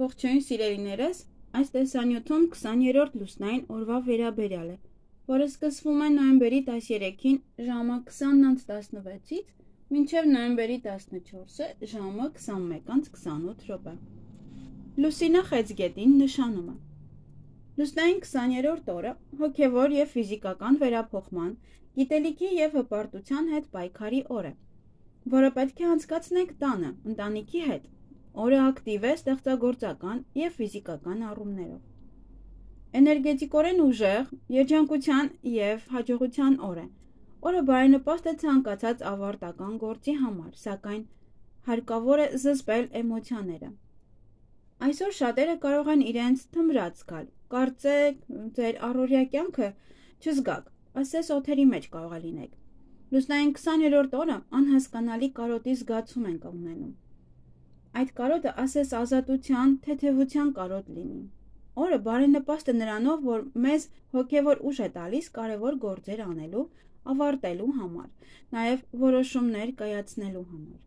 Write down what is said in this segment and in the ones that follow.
Ողջույն սիրելիներս, այս տեսանյութում 20-րդ լուսնային օրվա վերաբերյալ է, որը սկսվում է նոյեմբերի 13-ին ժամը 20:16-ից մինչև նոյեմբերի 14-ը ժամը 21:28։ Լուսինը խեցգետին նշանում է։ Լուսնային 20-րդ օրը հոգևոր և ֆիզիկական վերափոխման, գիտելիքի և հպարտության հետ պայքարի օր է, որը պետք է անցկացնեք տանը, ընտանիքի հետ։ Օրը ակտիվ է ստեղծագործական և ֆիզիկական առումներով։ Էներգետիկորեն ուժեղ, երջանկության և հաջողության օր է։ Օրը բարենպաստ է ցանկացած ավարտական գործի համար, սակայն հարկավոր է զսպել էմոցիաները։ Այսօր շատերը կարող են իրենց թմրած զգալ, կարծեք ձեր առօրյա կյանքը չզգաք, ասես օթերի մեջ կարող է լինեք։ Լուսնային 20-րդ օրը անհասկանալի կարոտի զգացում ենք ունենում։ Այդ կարոտը ասես ազատության, թեթևության կարոտ լինի։ Օրը բարենպաստ է նրանով, որ մեզ հոգևոր ուժ է տալիս կարևոր գործեր անելու, ավարտելու համար, նաև որոշումներ կայացնելու համար։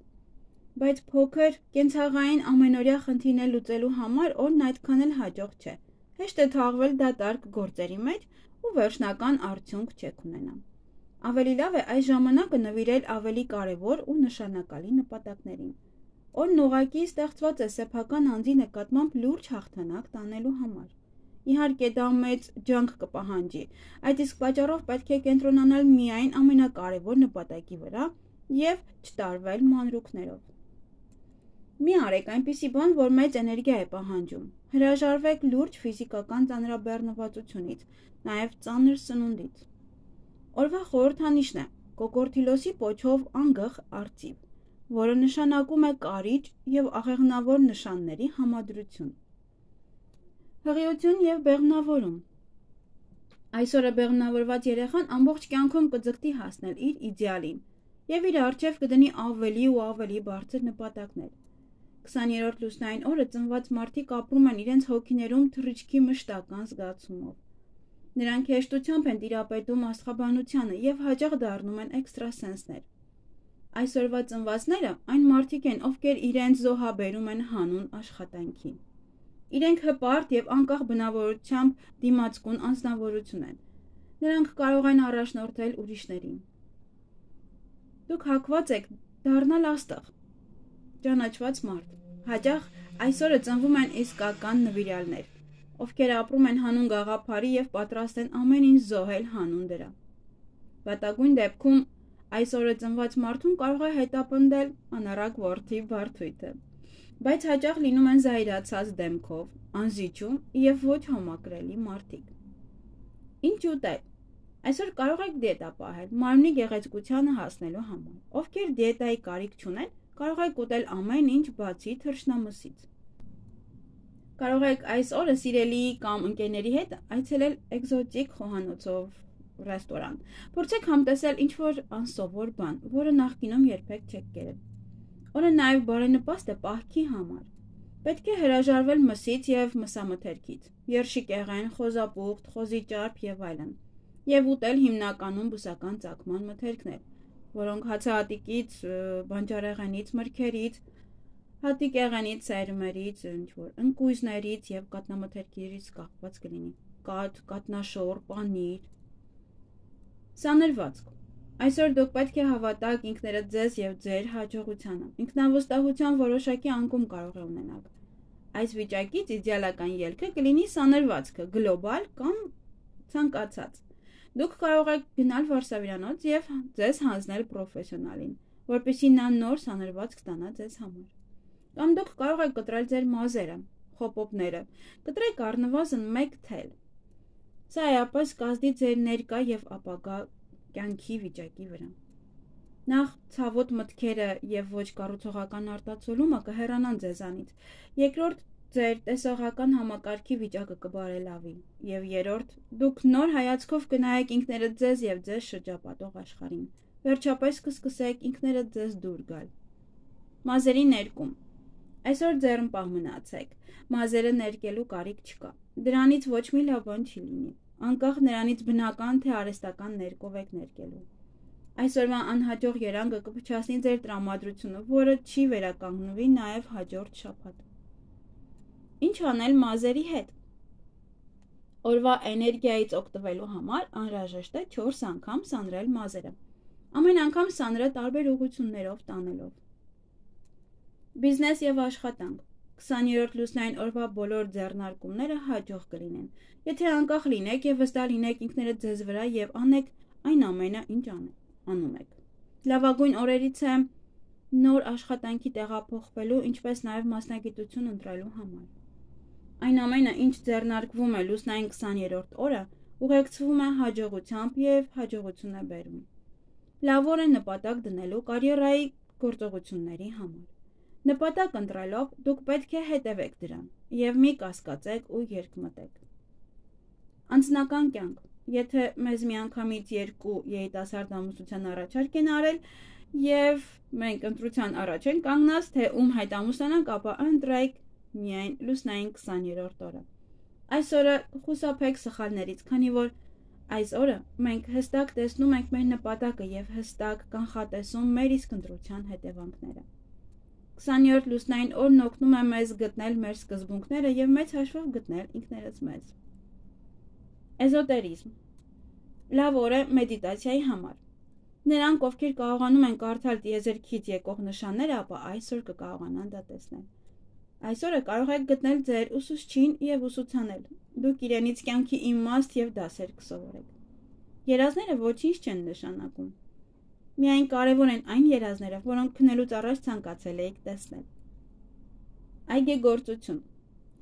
Բայց փոքր, կենցաղային ամենօրյա խնդիրներ լուծելու համար օրն այդքան էլ հաջող չէ։ Հեշտ է թաղվել դատարկ գործերի մեջ ու վերջնական արդյունք չեք ունենա։ Ավելի լավ է այս ժամանակը նվիրել ավելի կարևոր ու նշանակալի նպատակներին։ Օրն ուղղակի ստեղծված է սեփական անձի նկատմամբ լուրջ հաղթանակ տանելու համար։ Իհարկե դա մեծ ջանք կպահանջի, այդ իսկ պատճառով պետք է կենտրոնանալ միայն ամենակարևոր նպատակի վրա և չտարվել մանրուքներով։ Մի արեք այնպիսի բան, որ մեծ էներգիա է պահանջում։ Հրաժարվեք լուրջ ֆիզիկական ծանրաբեռնվածությունից, նաև ծանր սնունդից։ Օրվա խորհրդանիշն է կոկորդիլոսի պոչով անգղ արծիվ, որը նշանակում է կարիճ և աղեղնավոր նշանների համադրություն։ Հղիություն և բեղմնավորում։ Այսօրը բեղմնավորված երեխան ամբողջ կյանքում կձգտի հասնել իր իդեալին և իր առջև կդնի ավելի ու ավելի բարձր նպատակներ։ 20-րդ լուսնային օրը ծնված մարդիկ ապրում են իրենց հոգիներում թռիչքի մշտական զգացումով։ Նրանք հեշտությամբ են տիրապետում աստղաբանությանը և հաճախ դառնում են էքստրասենսներ։ Այսօրվա ծնվածները այն մարդիկ են, ովքեր իրենց զոհաբերում են հանուն աշխատանքի։ Իրենք հպարտ և անկախ բնավորությամբ դիմացկուն անձնավորություն են։ Նրանք կարող են առաջնորդել ուրիշներին։ Դուք հակված եք դառնալ աստղ, ճանաչված մարդ։ Հաճախ այսօրը ծնվում են իսկական նվիրյալներ, ովքեր ապրում են հանուն գաղափարի և պատրաստ են ամեն ինչ զոհել հանուն դրա։ Վատագույն դեպքում այսօրը ծնված մարդուն կարող է հետապնդել անառակ որդի բարդույթը, բայց հաճախ լինում են զայրացած դեմքով, անզիջում և ոչ համակրելի մարդիկ։ Ինչ ուտել։ Այսօր կարող եք դիետա պահել մարմնի գեղեցկությանը հասնելու համար։ Ովքեր դիետայի կարիք չունեն, կարող եք ուտել ամեն ինչ բացի թռչնամսից։ Կարող եք այս օրը սիրելիի կամ ընկերների հետ այցելել էկզոտիկ խոհանոցով ռեստորան։ Փորձեք համտեսել ինչ-որ անսովոր բան, որը նախկինում երբեք չեք կերել։ Օրը նաև բարենպաստ է պահքի համար։ Պետք է հրաժարվել մսից և մսամթերքից, երշիկեղեն, խոզապուխտ, խոզիճարփ և այլն, և ուտել հիմնականում բուսական ծագման մթերքներ, որոնք հացահատիկից, բանջարեղենից, մրգերից, հատիկեղենից, սերմերից, ընկույզներից և կաթնամթերքներից կախված կլինի, կաթ, կաթնաշոռ, պանիր։ Սանրվածք։ Այսօր դուք պետք է հավատաք ինքներդ ձեզ և ձեր հաջողությանը։ Ինքնավստահության որոշակի անկում կարող է ունենալ։ Այս վիճակից իդեալական ելքը կլինի սանրվածքը, գլոբալ կամ ցանկացած։ Դուք կարող եք գնալ վարսավիրանոց և ձեզ հանձնել պրոֆեսիոնալին, որպեսզի նա նոր սանրվածք ստանա ձեզ համար։ Կամ դուք կարող եք կտրել ձեր մազերը, խոպոպները, կտրեք առնվազն 1 թել։ Սա էապես կազդի ձեր ներկա և ապագա կյանքի վիճակի վրա։ Նախ ցավոտ մտքերը և ոչ կառուցողական արտացոլումը կհեռանան ձեզանից, երկրորդ ձեր տեսողական համակարգի վիճակը կբարելավի, և երրորդ դուք նոր հայացքով կնայեք ինքներդ ձեզ և ձեզ շրջապատող աշխարհին, վերջապես կսկսեք ինքներդ ձեզ դուր գալ։ Մազերի ներկում։ Այսօր ձեռնպահ մնացեք, մազերը ներկելու կարիք չկա, դրանից ոչ մի լավ բան չի լինի, անկախ նրանից բնական թե արհեստական ներկով եք ներկելու։ Այսօրվա անհաջող երանգը կփչացնի ձեր տրամադրությունը, որը չի վերականգնվի նաև հաջորդ շաբաթ։ Ինչ անել մազերի հետ։ Օրվա էներգիայից օգտվելու համար անհրաժեշտ է 4 անգամ սանրել մազերը։ Ամեն անգամ սանրը տարբեր ուղղություններով տանելով։ Բիզնես եւ աշխատանք։ 20-րդ լուսնային օրվա բոլոր ձեռնարկումները հաջող կլինեն, եթե անկախ լինեք եւ վստահ լինեք ինքներդ ձեզ վրա եւ անեք այն ամենը, ինչ անում եք։ Լավագույն օրերից է նոր աշխատանքի տեղափոխվելու, ինչպես նաեւ մասնագիտություն ընտրելու համար։ Այն ամենը, ինչ ձեռնարկվում է լուսնային 20-րդ օրը, ուղեկցվում է հաջողությամբ եւ հաջողություն է բերում։ Լավ օր է նպատակ դնելու կարիերայի գործողությունների համար։ Նպատակ ընտրելով դուք պետք է հետևեք դրան եւ մի կասկածեք ու երկմտեք։ Անձնական կյանք։ Եթե մեզ միանգամից 2 երիտասարդ ամուսնության առաջարկ են արել եւ մենք ընտրության առաջ ենք կանգնած, թե ում հետ ամուսնանանք, ապա ընտրեք միայն լուսնային 20-րդ օրը։ Այս օրը խուսափեք սխալներից, քանի որ այս օրը մենք հստակ տեսնում ենք մեր նպատակը եւ հստակ կանխատեսում մեր իսկ ընտրության հետևանքները։ 20-րդ լուսնային օրն օգնում է մեզ գտնել մեր սկզբունքները եւ մեծ հաշվով գտնել ինքներս մեզ։ Էզոտերիզմ։ Լավ օր է մեդիտացիայի համար։ Նրանք, ովքեր կարողանում են կարդալ տիեզերքից եկող նշանները, ապա այսօր կկարողանան դա տեսնել։ Այսօրը կարող եք գտնել ձեր ուսուցչին եւ ուսուցանել։ Դուք իրենից կյանքի իմաստ եւ դասեր կսովորեք։ Երազները ոչինչ չեն նշանակում։ Միայն կարևոր են այն երազները, որոնք քնելուց առաջ ցանկացել եք տեսնել։ Այգեգործություն։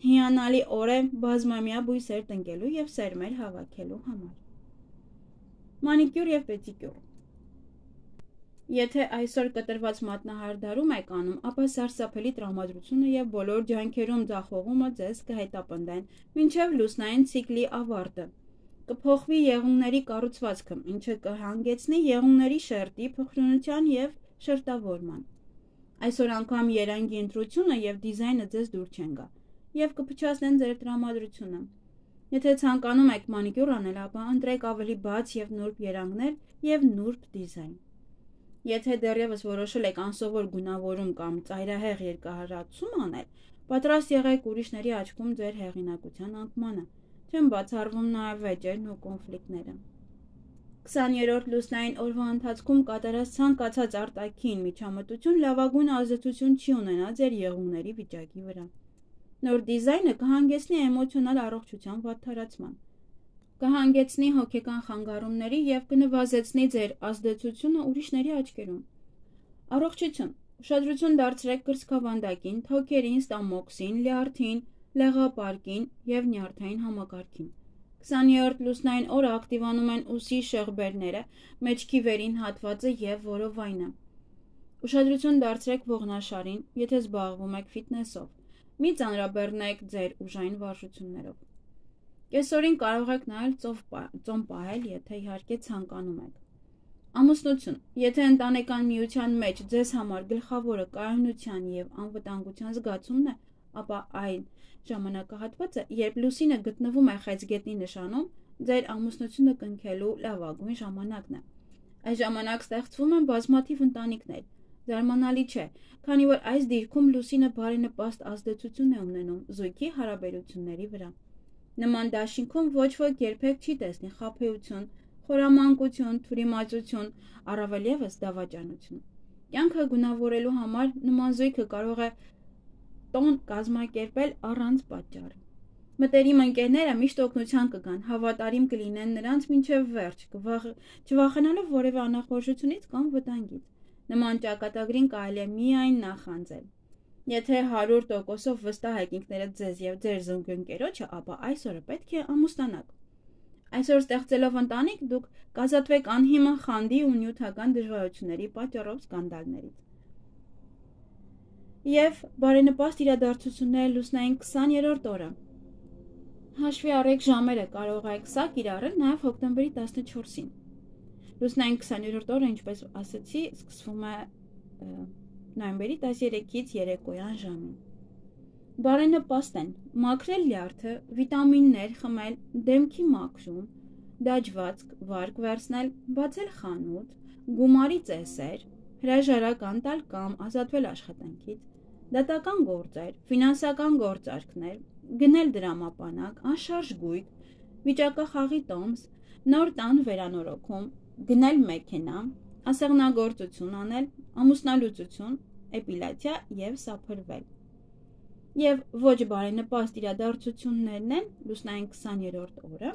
Հիանալի օր է բազմամյա բույսեր տնկելու եւ սերմեր հավաքելու համար։ Մանիկյուր եւ պետիկյուր։ Եթե այսօր կտրված մատնահարդարում եք անում, ապա սարսափելի տրամադրությունը եւ բոլոր ջանքերում ձախողումը ձեզ կհետապնդեն մինչեւ լուսնային ցիկլի ավարտը։ Կփոխվի եղունգների կառուցվածքը, ինչը կհանգեցնի եղունգների շերտի փոխրունության եւ շերտավորման։ Այսօր անգամ երանգի ընտրությունը եւ դիզայնը ձեզ դուր չեն գա եւ կփչացնեն ձեր տրամադրությունը։ Եթե ցանկանում եք մանիկյուր անել, ապա ընտրեք ավելի բաց եւ նուրբ երանգներ եւ նուրբ դիզայն։ Եթե դեռևս որոշել եք անսովոր գունավորում կամ ծայրահեղ երկարացում անել, պատրաստ եղեք ուրիշների աչքում ձեր հեղինակության անկմանը, չեն բացառվում նաև վեճերն ու կոնֆլիկտները։ 20-րդ լուսնային օրվա ընթացքում կատարած ցանկացած արտաքին միջամտություն լավագույն ազդեցություն չի ունենա ձեր եղունգների վիճակի վրա։ Նոր դիզայնը կհանգեցնի էմոցիոնալ առողջության վատթարացման, կհանգեցնի հոգեկան խանգարումների եւ կնվազեցնի ձեր ազդեցությունը ուրիշների աչքերում։ Առողջություն։ Ուշադրություն դարձրեք կրծքավանդակին, թոքերին, ստամոքսին, լյարդին, լեղապարկին եւ նյարդային համակարգին։ 20-րդ լուսնային օրը ակտիվանում են ուսի շեղբերները, մեջքի վերին հատվածը եւ որովայնը։ Ուշադրություն դարձրեք ողնաշարին, եթե զբաղվում եք ֆիթնեսով։ Մի ծանրաբեռնեք ձեր ուժային վարժություններով։ Կեսօրին կարող եք նայել ծոմ պահել, եթե իհարկե ցանկանում եք։ Ամուսնություն։ Եթե ընտանեկան միության մեջ ձեզ համար գլխավորը կայունության եւ անվտանգության զգացումն է, ապա այն ժամանակահատվածը, երբ լուսինը գտնվում է խեցգետնի նշանում, ձեր ամուսնությունը կնքելու լավագույն ժամանակն է։ Այս ժամանակ ստեղծվում են բազմաթիվ ընտանիքներ։ Զարմանալի չէ, քանի որ այս դիրքում լուսինը բարենպաստ ազդեցություն է ունենում զույգի հարաբերությունների վրա։ Նման դաշինքում ոչ ոք երբեք չի տեսնի խաբեություն, խորամանկություն, թյուրիմացություն, առավել ևս դավաճանություն։ Կյանքը գունավորելու համար նման զույգը կարող է տոն կազմակերպել առանց պատճառի։ Մտերիմ ընկերները միշտ օգնության կգան, հավատարիմ կլինեն նրանց մինչև վերջ, չվախենալով որևէ անախորժությունից կամ վտանգից։ Նման ճակատագրին կարելի է միայն նախանձել։ Եթե 100%-ով վստահ եք ինքներդ ձեզ եւ ձեր զուգընկերոջը, ապա այսօրը պետք է ամուսնանաք։ Այսօր ստեղծելով ընտանիք, դուք կազատվեք անհիմն խանդի ու նյութական դժվարությունների պատճառով սկանդալներից։ Եվ բարենպաստ իրադարձություններ լուսնային 20-րդ օրը։ Հաշվի առեք ժամերը, կարող եք սա կիրառել նաև հոկտեմբերի 14-ին։ Լուսնային 20-րդ օրը, ինչպես ասացի, սկսվում է նոյեմբերի 13-ից երեկոյան ժամին։ Բարենպաստ են մաքրել լյարդը, վիտամիններ խմել, դեմքի մաքրում, դաջվածք, վարկ վերցնել, բացել խանութ, գումարի ծեսեր, հրաժարական տալ կամ ազատվել աշխատանքից, դատական գործեր, ֆինանսական գործարքներ, գնել դրամապանակ, անշարժ գույք, վիճակախաղի տոմս, նոր տան վերանորոգում, գնել մեքենա, ասեղնագործություն անել, ամուսնալուծություն, էպիլյացիա եւ սափրվել։ Եվ ոչ բարենպաստ իրադարձություններն են լուսնային 20-րդ օրը,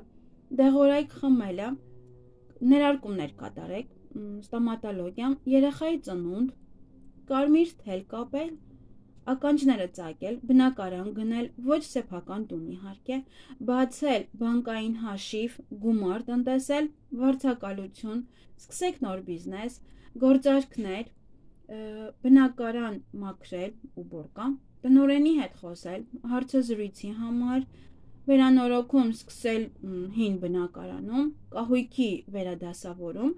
դեղորայք խմելը, ներարկումներ կատարեք, ստոմատոլոգիա, երեխայի ծնունդ, կարմիր թել կապել, ականջները ծակել, բնակարան գնել, ոչ սեփական տուն իհարկե, բացել բանկային հաշիվ, գումար տնտեսել, վարձակալություն, սկսեք նոր բիզնես, գործարքներ, բնակարան մաքրել ու բորկա, տնօրենի հետ խոսել, հարցազրույցի համար, վերանորոգում սկսել հին բնակարանում, կահույքի վերադասավորում,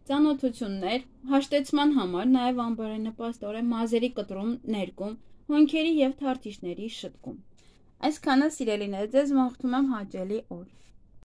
ծանոթություններ, հաշտեցման համար, նաև անբարենպաստ օր է մազերի կտրում, ներկում, հոնքերի և թարթիշների շտկում։ Այսքանը սիրելիներ, ձեզ մաղթում եմ հաճելի օր։